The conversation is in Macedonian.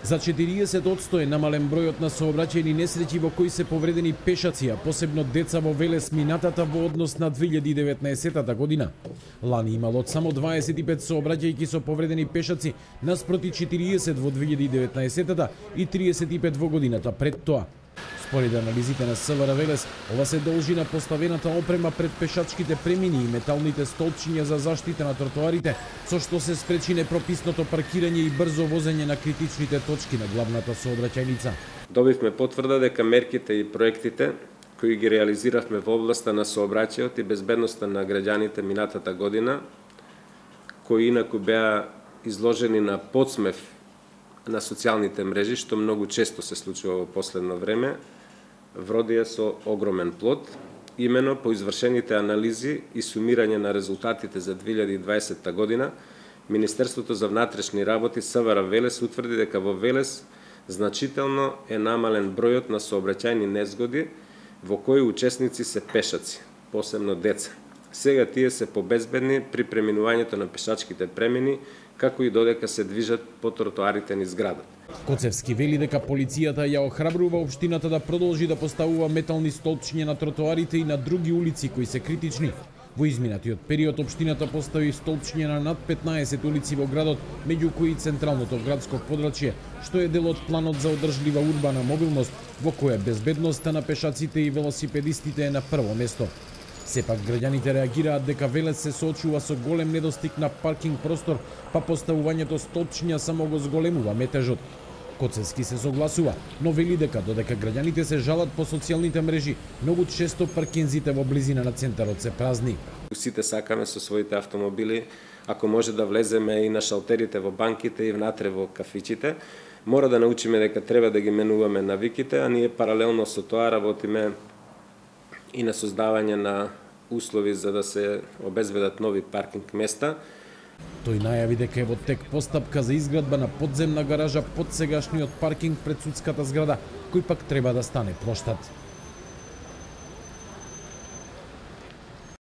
За 40% е намален бројот на сообраќајни несреќи во кои се повредени пешаци, а посебно деца во Велес минатата во однос на 2019 година. Лани имало само 25 сообраќајки со повредени пешаци наспроти 40 во 2019 и 35 во годината пред тоа. Според анализите на СВР Велес, ова се должи на поставената опрема пред пешачките премини и металните столчиња за заштита на тротоарите, со што се спречи непрописното паркирање и брзо возење на критичните точки на главната сообраќајница. Добивме потврда дека мерките и проектите кои ги реализиравме во областа на сообраќајот и безбедноста на граѓаните минатата година, кои инаку беа изложени на подсмев на социјалните мрежи, што многу често се случува во последно време, вродија со огромен плод, имено по извршените анализи и сумирање на резултатите за 2020 година, Министерството за внатрешни работи СВР Велес утврди дека во Велес значително е намален бројот на сообраќајни незгоди во кои учесници се пешаци, посебно деца. Сега тие се побезбедни при преминувањето на пешачките премини, како и додека се движат по тротоарите низ градот. Коцевски вели дека полицијата ја охрабрува општината да продолжи да поставува метални столчиња на тротоарите и на други улици кои се критични. Во изминатиот период општината постави столчиња на над 15 улици во градот, меѓу кои централното градско подрачје, што е дел од планот за одржлива урбана мобилност, во која безбедноста на пешаците и велосипедистите е на прво место. Сепак граѓаните реагираат дека Велес се соочува со голем недостиг на паркинг простор, па поставувањето столчиња само го зголемува метежот. Коцевски се согласува, но вели дека додека граѓаните се жалат по социјалните мрежи, многу често паркинзите во близина на центарот се празни. Сите сакаме со своите автомобили, ако може да влеземе и на шалтерите во банките и внатре во кафичите, мора да научиме дека треба да ги менуваме навиките, а ние паралелно со тоа работиме и на создавање на услови за да се обезбедат нови паркинг места. Тој најави дека е во тек постапка за изградба на подземна гаража под сегашниот паркинг пред судската зграда, кој пак треба да стане плоштад.